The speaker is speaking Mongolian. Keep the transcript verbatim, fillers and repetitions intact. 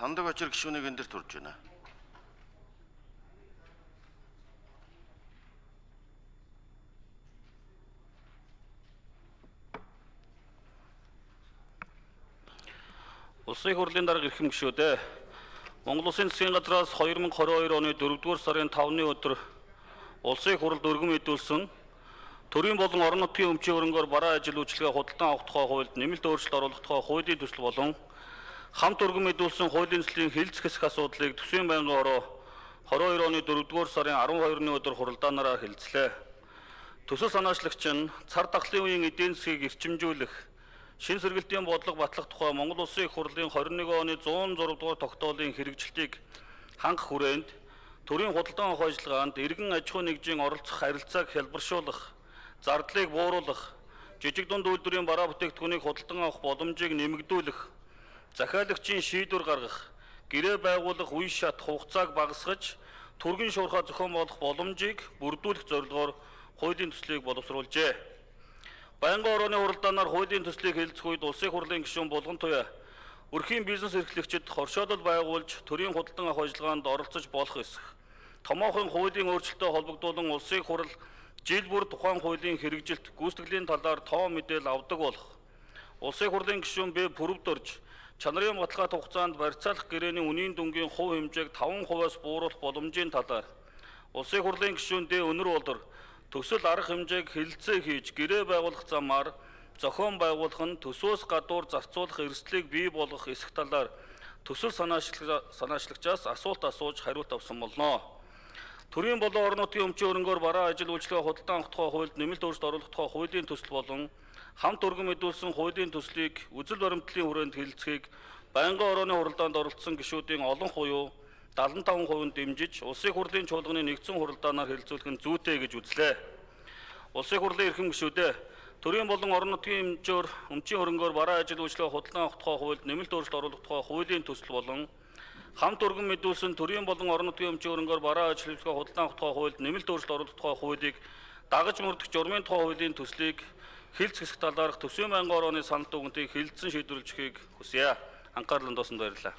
Сандаг очир гишүүнийг энэ дэр турж байна. Улсын хурлын дарга эрхэм гишүүдээ Монгол Улсын засгийн газраас two thousand twenty-two оны дөрөвдүгээр сарын тавны өдөр улсын хурлд өргөн мэдүүлсэн төрийн болон орон нутгийн өмчийн хөрөнгөөр бараа ажил үйлчилгээ худалдан авах тухай хуульд нэмэлт өөрчлөлт оруулах тухай хуулийн төсөл болон хамт өргөн мэдүүлсэн хуулийн төслийн хэлэлцэх хэсэг асуудлыг Төсвийн байнгын хороо twenty-two оны дөрөвдүгээр сарын twelve-ны өдөр хуралдаанаараа хэлэлцлээ. Төсөл санаачлагч нь цар тахлын үеийн эдийн засгийг эрчимжүүлэх шин сэргэлтийн бодлого батлах тухай Монгол Улсын их хурлын twenty-one оны one oh six дугаар тогтоолын хэрэгжилтийг хангах хүрээнд төрийн худалдан авах ажиллагаанд иргэн аж ахуй нэгжийн оролцох харилцааг хялбаршуулах, зардлыг бууруулах, жижиг дунд үйлдвэрийн бараа бүтээгдэхүүнийг худалдан авах боломжийг нэмэгдүүлэх, захиалагчийн шийдвэр гаргах, гэрээ байгуулах үе шат хугацааг багасгаж, түргэн шуурхай зохион болох боломжийг бүрдүүлэх зорилгоор хуулийн төслийг боловсруулжээ. Байнгын орооны хуралдаанаар хуулийн төслийг хэлэлцэх үед улсын хурлын гишүүн Булган Туяа өрхийн бизнес эрхлэгчид хоршоолол байгуулж төрийн худалдан авах ажиллагаанд оролцож болох эсэх томоохон хуулийн өөрчлөлтөд холбогдуулан улсын хурал жил бүр тухайн хуулийн хэрэгжилт гүйцэтгэлийн талаар тоо мэдээлэл авдаг болох. Улсын хурлын гишүүн Б Пүрвдөрж чанарын баталгаат хугацаанд барьцаалах гэрээний үнийн дүнгийн хувь хэмжээг five percent-аас бууруулах боломжийн талаар улсын хурлын гишүүн Д Өнөр Болор төсөл арга хэмжээг хэлэлцээ хийж гэрээ байгуулах замаар зохион байгуулах нь төсвөөс гадуур зарцуулах эрсдлийг бий болгох эсэх талаар төсөл санаачлагчаас асуулт асууж хариулт авсан болно. Төрийн болон орон нутгийн өмчийн хөрөнгөөр бараа ажил үйлчилгээ худалдан авах тухай хуульд нэмэлт өөрчлөлт оруулах тухай хуулийн төсөл болон хамт өргөн мэдүүлсэн хуулийн төслийг үзэл баримтлалын хүрээнд хэлэлцэхийг байнгын орооны хуралдаанд оролцсон гишүүдийн олон хуйуу seventy-five percent дэмжиж улсын хурлын чуулганы нэгдсэн хуралдаанаар хэлэлцүүлэх нь зүйтэй гэж үзлээ. Улсын хурлын эрхэм гишүүдээ төрийн болон орон нутгийн хэмжээр өмчийн хөрөнгөөр бараа ажил үйлчилгээ худалдан авах тухай хуульд нэмэлт өөрчлөлт оруулах тухай хуулийн төсөл болон хамт өргөн мэдүүлсэн төрийн болон орон нутгийн өмчийн хөрөнгөөр бараа ажил үйлчилгээ худалдан авах тухай хуульд нэмэлт өөрчлөлт оруулах тухай хуулийг дагаж мөрдөх журмын тухай хуулийн төслийг хэлэлцэх хэсэг талаарх Төсвийн байнгын орооны санал дүгнэлтийг хэлэлцэн шийдвэрлэхийг хүсье. Анхаарлын тооцоонд баярлалаа.